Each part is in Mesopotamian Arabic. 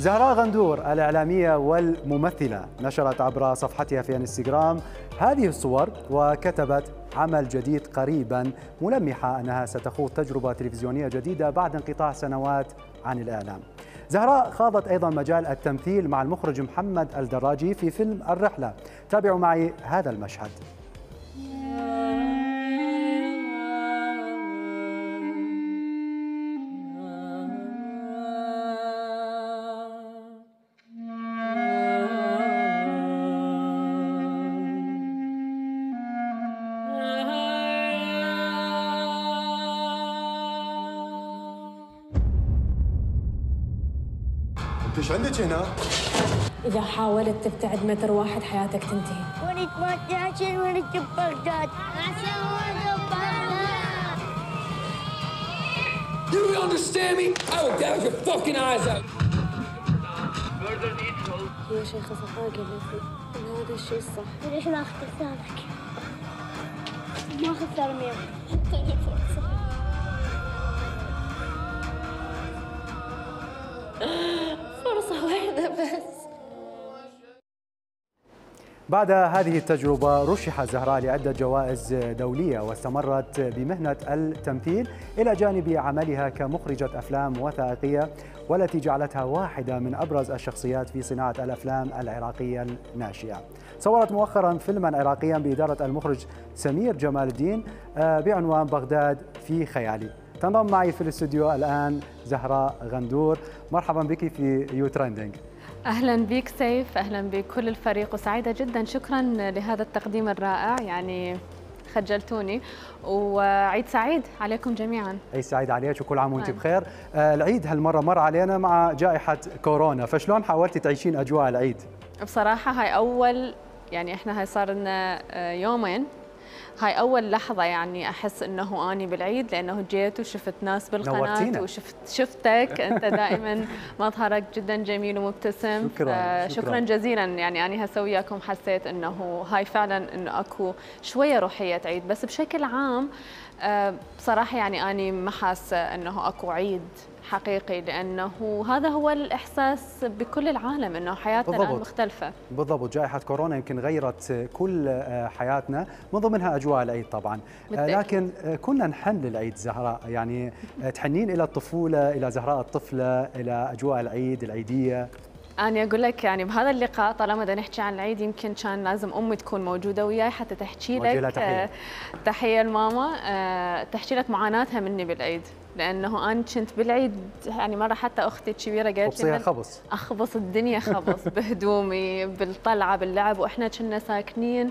زهراء غندور الإعلامية والممثلة نشرت عبر صفحتها في انستغرام هذه الصور وكتبت عمل جديد قريبا، ملمحة أنها ستخوض تجربة تلفزيونية جديدة بعد انقطاع سنوات عن الإعلام. زهراء خاضت أيضا مجال التمثيل مع المخرج محمد الدراجي في فيلم الرحلة. تابعوا معي هذا المشهد. انت ايش عندك هنا؟ إذا حاولت تبتعد متر واحد حياتك تنتهي. ولد ما تعشر ولد بغداد. عشان ولد بغداد. Do you understand me? I will gouge your fucking eyes out. يا شيخة صفاء قالت إن هذا الشيء الصح. ليش ما أخذت حسابك؟ ما أخذت ترميم. أعطيني فرصة. فرصة واحدة بس. بعد هذه التجربة رشحت زهراء لعدة جوائز دولية، واستمرت بمهنة التمثيل إلى جانب عملها كمخرجة أفلام وثائقية، والتي جعلتها واحدة من أبرز الشخصيات في صناعة الأفلام العراقية الناشئة. صورت مؤخرا فيلما عراقيا بإدارة المخرج سمير جمال الدين بعنوان بغداد في خيالي. تنضم معي في الاستوديو الآن زهراء غندور. مرحبا بك في يو ترندنج. أهلا بك سيف، أهلا بكل الفريق، وسعيدة جدا. شكرا لهذا التقديم الرائع، يعني خجلتوني. وعيد سعيد عليكم جميعا. عيد سعيد عليك وكل عام وانت بخير. العيد هالمرة مر علينا مع جائحة كورونا، فشلون حاولتي تعيشين أجواء العيد؟ بصراحة هاي أول، يعني إحنا هاي صار لنا يومين، هاي أول لحظة يعني أحس إنه أني بالعيد، لأنه جيت وشفت ناس بالقناة شفتك أنت دائما مظهرك جدا جميل ومبتسم. شكرا جزيلا. يعني أنا هسه وياكم حسيت إنه هاي فعلا إنه أكو شوية روحية عيد، بس بشكل عام بصراحة يعني أنا ما حاسة إنه أكو عيد حقيقي، لأنه هذا هو الإحساس بكل العالم، إنه حياتنا الآن مختلفة. بالضبط. جائحة كورونا يمكن غيرت كل حياتنا، من ضمنها أجواء العيد طبعا. لكن كنا نحن للعيد زهراء، يعني تحنين إلى الطفولة، إلى زهراء الطفلة، إلى أجواء العيد العيدية. أنا أقول لك يعني بهذا اللقاء طالما بدنا نحكي عن العيد، يمكن كان لازم أمي تكون موجودة وياي حتى تحكي لك تحية لماما، تحكي لك معاناتها مني بالعيد، لأنه أنا كنت بالعيد يعني مرة حتى أختي الكبيرة قالت لي أخبص الدنيا خبص بهدومي بالطلعة باللعب، وإحنا كنا ساكنين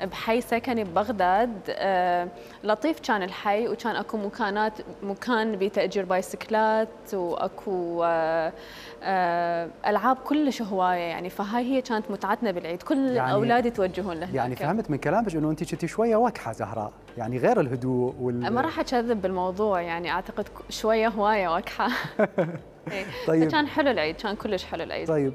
بحي سكني ببغداد لطيف كان الحي، وكان أكو مكان بتأجير بايسكلات، وأكو ألعاب كلش هواية يعني. فهاي هي كانت متعتنا بالعيد، كل يعني أولادي يتوجهون لهناك. يعني فهمت من كلامك إنه أنت كنتي شوية وكحة زهراء، يعني غير الهدوء ما راح أكذب بالموضوع، يعني أعتقد شوية هواية وكحة. طيب كان حلو العيد، كان كلش حلو العيد. طيب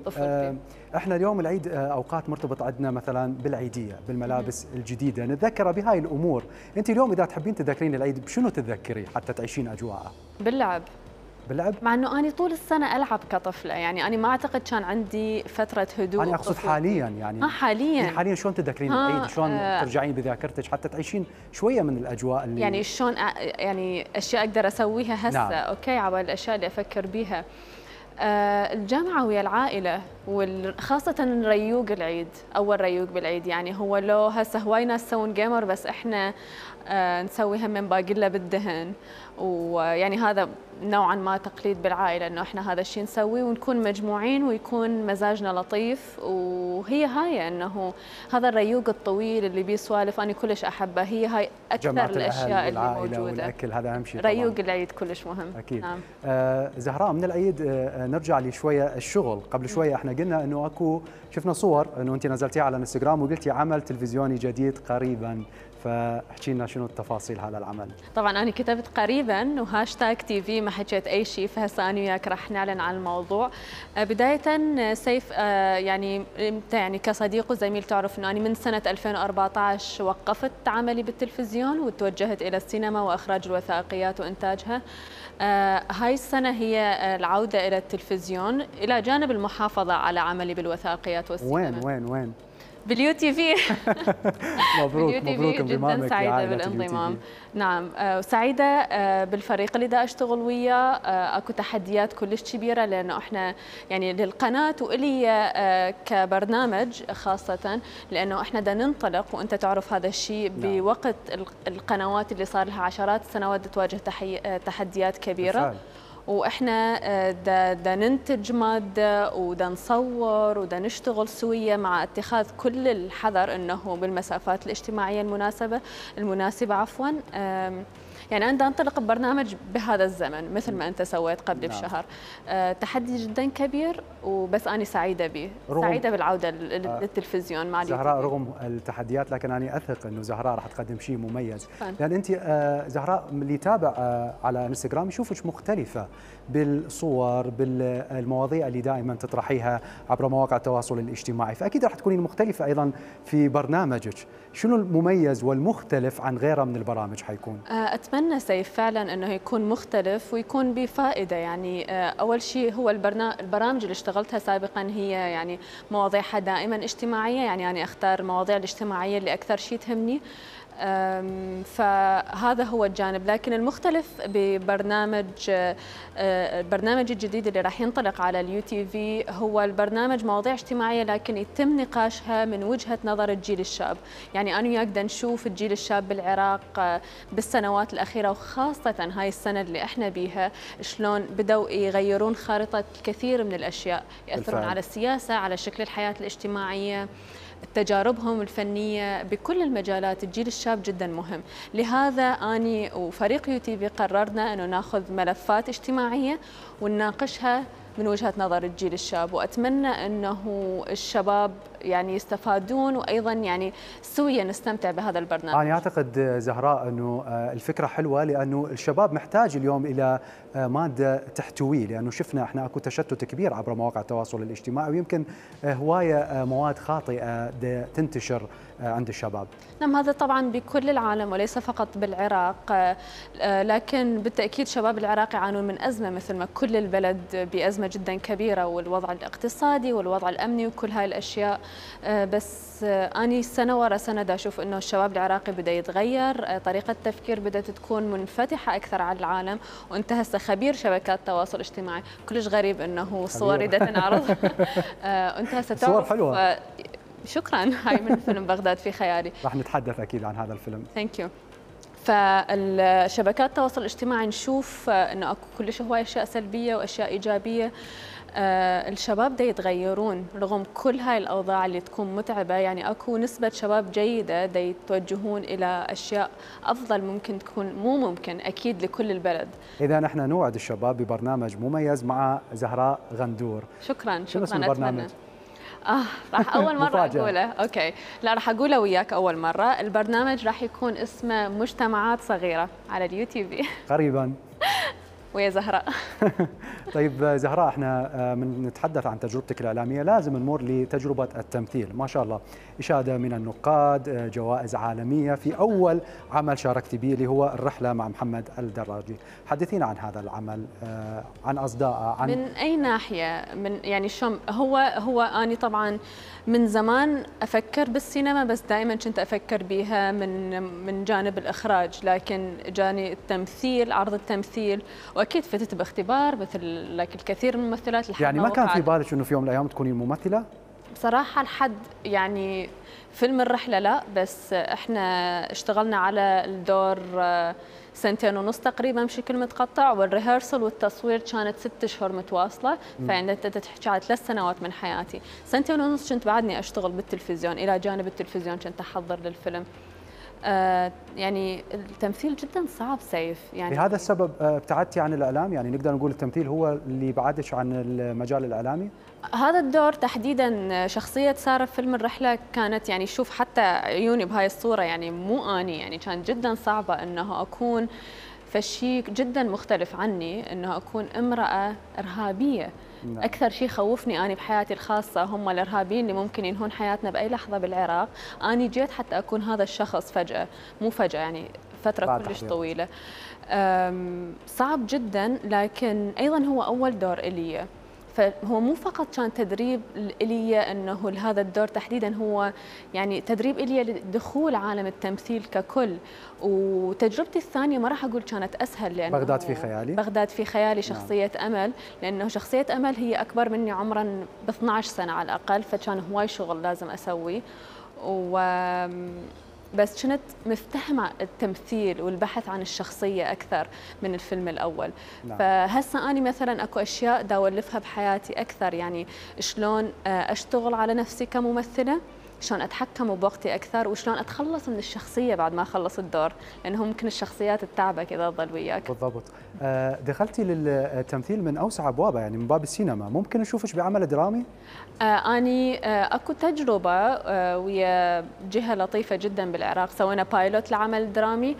احنا اليوم العيد اوقات مرتبط عندنا مثلا بالعيديه، بالملابس الجديده، نتذكر بهاي الامور. انت اليوم اذا تحبين تذكرين العيد بشنو تتذكري حتى تعيشين اجواءه؟ باللعب. باللعب؟ مع انه انا طول السنه العب كطفله، يعني انا ما اعتقد كان عندي فتره هدوء. انا اقصد حاليا يعني. حاليا شلون تتذكرين العيد؟ شلون ترجعين بذاكرتك حتى تعيشين شويه من الاجواء اللي يعني شلون يعني اشياء اقدر اسويها هسه. نعم. اوكي، على الاشياء اللي افكر بيها. الجامعة ويا العائلة، وخاصة ريوق العيد، أول ريوق بالعيد. يعني هو لو هسه هواي ناس يسوون جيمر، بس إحنا نسويها من باقلة بالدهن، ويعني هذا نوعا ما تقليد بالعائلة، إنه إحنا هذا الشيء نسويه ونكون مجموعين ويكون مزاجنا لطيف. وهي هاي إنه هذا الريوق الطويل اللي بيه سوالف أنا كلش أحبه. هي هاي أكثر الأشياء اللي موجودة. والأكل هذا أهم شيء. ريوق العيد كلش مهم. أكيد. نعم. زهراء، من العيد نرجع لشوية الشغل. قبل شوية إحنا قلنا إنه أكو، شفنا صور إنه أنت نزلتيها على الانستغرام وقلتي عمل تلفزيوني جديد قريبا، فاحكي لنا شنو التفاصيل هذا العمل. طبعا انا كتبت قريبا وهاشتاج تي في، ما حكيت اي شيء، فهسه انا وياك راح نعلن عن الموضوع. بدايه سيف، يعني انت يعني كصديق وزميل تعرف انه انا من سنه 2014 وقفت عملي بالتلفزيون وتوجهت الى السينما واخراج الوثائقيات وانتاجها. هاي السنة هي العودة إلى التلفزيون إلى جانب المحافظة على عملي بالوثائقيات والسينما. وين؟ باليو تي في. مبروك جدا سعيدة بالانضمام. نعم، وسعيدة بالفريق اللي دا أشتغل وياه. أكو تحديات كلش كبيرة لأنه إحنا يعني للقناة وإلي كبرنامج خاصة، لأنه إحنا دا ننطلق وأنت تعرف هذا الشيء بوقت القنوات اللي صار لها عشرات السنوات تواجه تحديات كبيرة بالفعل. واحنا دا ننتج ماده ودا نصور ودا نشتغل سويه مع اتخاذ كل الحذر انه بالمسافات الاجتماعيه المناسبه عفوا. يعني أنا انطلق ببرنامج بهذا الزمن مثل ما أنت سويت قبل بشهر. تحدي جدا كبير وبس أنا سعيدة به، سعيدة بالعودة للتلفزيون مع زهراء. رغم التحديات لكن أنا أثق أنه زهراء راح تقدم شيء مميز، لأن أنت زهراء اللي يتابع على انستغرام يشوفك مختلفة بالصور، بالمواضيع اللي دائما تطرحيها عبر مواقع التواصل الاجتماعي، فأكيد راح تكونين مختلفة أيضا في برنامجك. شنو المميز والمختلف عن غيره من البرامج حيكون؟ أتمنى سيف فعلا أنه يكون مختلف ويكون بفائدة. يعني أول شيء هو البرامج اللي اشتغلتها سابقا هي يعني مواضيعها دائما اجتماعية، يعني أنا أختار المواضيع الاجتماعية اللي أكثر شيء تهمني، فهذا هو الجانب. لكن المختلف البرنامج الجديد اللي راح ينطلق على اليو تي في هو البرنامج مواضيع اجتماعية لكن يتم نقاشها من وجهة نظر الجيل الشاب. يعني أنا وياك بدنا نشوف الجيل الشاب بالعراق بالسنوات الأخيرة وخاصة هاي السنة اللي احنا بيها شلون بدأوا يغيرون خارطة كثير من الأشياء، يأثرون على السياسة، على شكل الحياة الاجتماعية، تجاربهم الفنية بكل المجالات. الجيل الشاب جدا مهم، لهذا أني وفريق يو تي في قررنا أنه ناخذ ملفات اجتماعية ونناقشها من وجهة نظر الجيل الشاب، وأتمنى أنه الشباب يعني يستفادون وأيضا يعني سويا نستمتع بهذا البرنامج. أنا أعتقد زهراء أنه الفكرة حلوة، لأنه الشباب محتاج اليوم إلى مادة تحتويه، لأنه شفنا إحنا أكو تشتت كبير عبر مواقع التواصل الاجتماعي ويمكن هواية مواد خاطئة تنتشر عند الشباب. نعم، هذا طبعا بكل العالم وليس فقط بالعراق، لكن بالتأكيد شباب العراق يعانون من أزمة مثل ما كل البلد بأزمة جدا كبيرة، والوضع الاقتصادي والوضع الأمني وكل هاي الأشياء. بس أني سنة ورا سنة دا أشوف أنه الشباب العراقي بدأ يتغير، طريقة التفكير بدأت تكون منفتحة أكثر على العالم. وأنت هسه خبير شبكات التواصل الاجتماعي، كلش غريب أنه صوري دا تنعرض. أنت هسه تعرف صور حلوة. شكرا. هاي من فيلم بغداد في خيالي. راح نتحدث أكيد عن هذا الفيلم. ثانك يو. فالشبكات التواصل الاجتماعي نشوف انه اكو كلش هواي اشياء سلبيه واشياء ايجابيه. الشباب دا يتغيرون رغم كل هاي الاوضاع اللي تكون متعبه. يعني اكو نسبه شباب جيده دا يتوجهون الى اشياء افضل، ممكن تكون مو ممكن اكيد لكل البلد. اذا نحن نوعد الشباب ببرنامج مميز مع زهراء غندور. شكرا. شنو اسم البرنامج؟ راح أول مرة أقوله. أوكي، لا راح أقوله وياك أول مرة. البرنامج راح يكون اسمه مجتمعات صغيرة على اليو تي في قريبا ويا زهراء. طيب زهراء، احنا من نتحدث عن تجربتك الإعلامية لازم نمر لتجربة التمثيل. ما شاء الله، إشادة من النقاد، جوائز عالمية في أول عمل شاركت به اللي هو الرحلة مع محمد الدراجي. حدثينا عن هذا العمل، عن أصداءه، عن من أي ناحية، من يعني شو هو أنا طبعا من زمان أفكر بالسينما، بس دائما كنت أفكر بها من جانب الإخراج، لكن جاني التمثيل، عرض التمثيل، واكيد فتت باختبار مثل لك الكثير من الممثلات. يعني ما كان في بالك انه في يوم من الايام تكونين ممثله؟ بصراحه لحد يعني فيلم الرحله لا، بس احنا اشتغلنا على الدور 2.5 سنين تقريبا بشكل متقطع، والريهرسل والتصوير كانت 6 أشهر متواصله. فعندنا تحكي على 3 سنوات من حياتي. 2.5 سنين كنت بعدني اشتغل بالتلفزيون، الى جانب التلفزيون كنت احضر للفيلم. يعني التمثيل جدا صعب سيف. يعني لهذا السبب ابتعدتي عن الاعلام؟ يعني نقدر نقول التمثيل هو اللي بعدك عن المجال الاعلامي؟ هذا الدور تحديدا، شخصيه ساره في فيلم الرحله كانت يعني شوف حتى عيوني بهاي الصوره يعني مو اني، يعني كانت جدا صعبه انه اكون فشي جدا مختلف عني، انه اكون امراه ارهابيه. نعم. أكثر شيء خوفني أنا بحياتي الخاصة هم الإرهابيين اللي ممكن ينهون حياتنا بأي لحظة بالعراق. أنا جيت حتى أكون هذا الشخص فجأة، مو فجأة يعني فترة كلش طويلة. صعب جدا، لكن أيضا هو أول دور إلي، فهو مو فقط كان تدريب إلي أنه هذا الدور تحديدا، هو يعني تدريب إلي لدخول عالم التمثيل ككل. وتجربتي الثانية ما راح أقول كانت أسهل، لأنه بغداد في خيالي. بغداد في خيالي شخصية أمل، لأنه شخصية أمل هي أكبر مني عمرا ب 12 سنة على الأقل، فكان هواي شغل لازم أسويه. بس كنت مفتهمة التمثيل والبحث عن الشخصية أكثر من الفيلم الأول. فهسه أنا مثلا أكو أشياء دا أولفها بحياتي أكثر، يعني شلون أشتغل على نفسي كممثلة، شلون أتحكم بوقتي أكثر، وشلون أتخلص من الشخصية بعد ما أخلص الدور، لأنه ممكن الشخصيات تتعبك إذا تظل وياك. بالضبط. دخلتي للتمثيل من أوسع أبوابه، يعني من باب السينما، ممكن نشوفش بعمل درامي؟ أني أكو تجربة ويا جهة لطيفة جدا بالعراق، سوينا بايلوت لعمل درامي.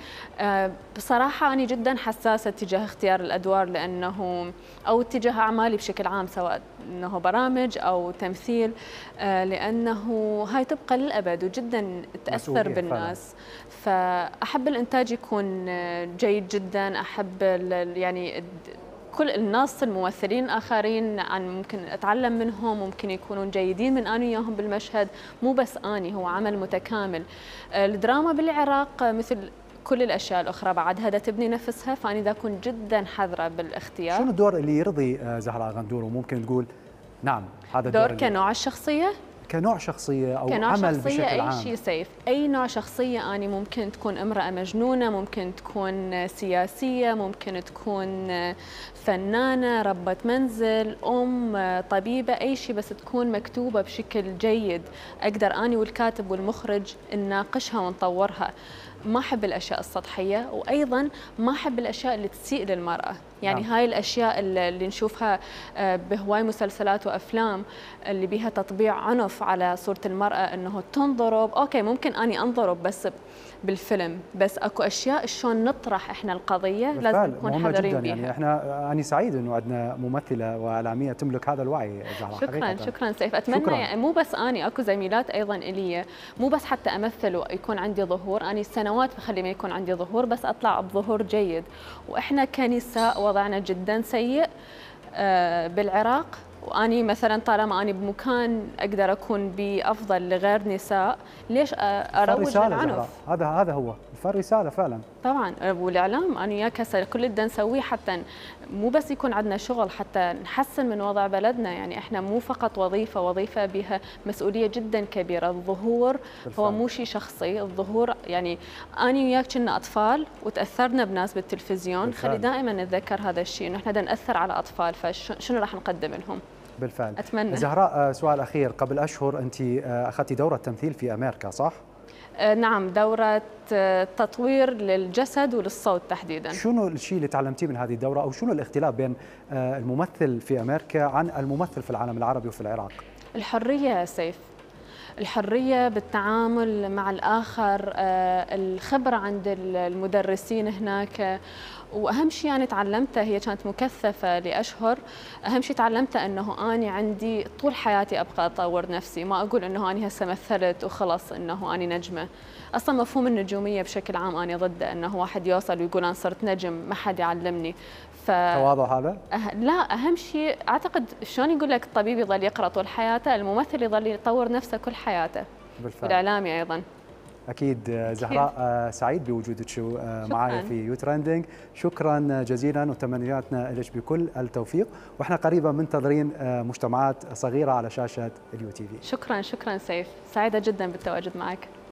بصراحة أنا جدا حساسة تجاه اختيار الأدوار، لأنه أو اتجاه أعمالي بشكل عام، سواء أنه برامج أو تمثيل، لأنه هاي تبقى للأبد وجدا تأثر بالناس. فأحب الإنتاج يكون جيد جدا، أحب يعني كل الناس الممثلين الآخرين ممكن أتعلم منهم، ممكن يكونون جيدين من أنا وياهم بالمشهد، مو بس أني، هو عمل متكامل. الدراما بالعراق مثل كل الأشياء الأخرى بعدها دا تبني نفسها، فأنا دا أكون جدا حذرة بالاختيار. شنو الدور اللي يرضي زهراء غندور وممكن تقول نعم هذا الدور؟ دور كنوع الشخصية؟ كنوع شخصية أو كنوع عمل شخصية بشكل عام. أي شيء سيف، أي نوع شخصية. أنا ممكن تكون امرأة مجنونة، ممكن تكون سياسية، ممكن تكون فنانة، ربة منزل، طبيبة، أي شيء، بس تكون مكتوبة بشكل جيد أقدر أنا والكاتب والمخرج نناقشها ونطورها. ما أحب الأشياء السطحية، وأيضا ما أحب الأشياء اللي تسيء للمرأة. يعني هاي الأشياء اللي نشوفها بهواي مسلسلات وأفلام اللي بيها تطبيع عنف على صورة المرأة، أنه تنضرب. أوكي ممكن أني أنضرب بس بالفيلم، بس أكو أشياء شلون نطرح إحنا القضية لازم نكون حذرين بيها. يعني أنا سعيد أنه عندنا ممثلة وإعلامية تملك هذا الوعي. شكرا سيف. أتمنى يعني مو بس أني، أكو زميلات أيضا إلي، مو بس حتى أمثل ويكون عندي ظهور. أنا سنوات بخلي ما يكون عندي ظهور، بس أطلع بظهور جيد. وإحنا كنساء وضعنا جدا سيء بالعراق، وأني مثلا طالما أني بمكان أقدر أكون بأفضل لغير نساء، ليش أروج للعنف؟ هذا هو الرسالة فعلا. طبعا. والإعلام أنا وياك هسه كل اللي نسويه حتى مو بس يكون عندنا شغل، حتى نحسن من وضع بلدنا. يعني إحنا مو فقط وظيفة بها مسؤولية جدا كبيرة. الظهور بالفعل هو مو شيء شخصي. الظهور يعني أنا وياك كنا أطفال وتأثرنا بناس بالتلفزيون بالفعل. خلي دائما نتذكر هذا الشيء، إنه إحنا نأثر على أطفال، فشنو راح نقدم لهم؟ بالفعل. أتمنى. زهراء، سؤال أخير، قبل أشهر أنت أخذتي دورة تمثيل في أمريكا صح؟ نعم، دورة تطوير للجسد وللصوت تحديدا. شنو الشيء اللي تعلمتيه من هذه الدورة، أو شنو الاختلاف بين الممثل في أمريكا عن الممثل في العالم العربي وفي العراق؟ الحرية سيف، الحرية بالتعامل مع الآخر، الخبرة عند المدرسين هناك. وأهم شيء أنا تعلمته، هي كانت مكثفة لأشهر، أهم شيء تعلمته أنه أنا عندي طول حياتي أبقى أطور نفسي. ما أقول أنه أنا هسه مثلت وخلص أنه أنا نجمة. أصلا مفهوم النجومية بشكل عام أنا ضده، أنه واحد يوصل ويقول أنا صرت نجم ما حد يعلمني. تواضع هذا؟ لا، أهم شيء أعتقد شلون يقول لك الطبيب يظل يقرأ طول حياته، الممثل يظل يطور نفسه كل حياته. بالفعل. والإعلامي أيضا. أكيد. زهراء، سعيد بوجودك معايا في يو ترندنج. شكرا جزيلا وتمنياتنا لك بكل التوفيق، واحنا قريبا منتظرين مجتمعات صغيرة على شاشة اليو تي في. شكرا سيف، سعيدة جدا بالتواجد معك.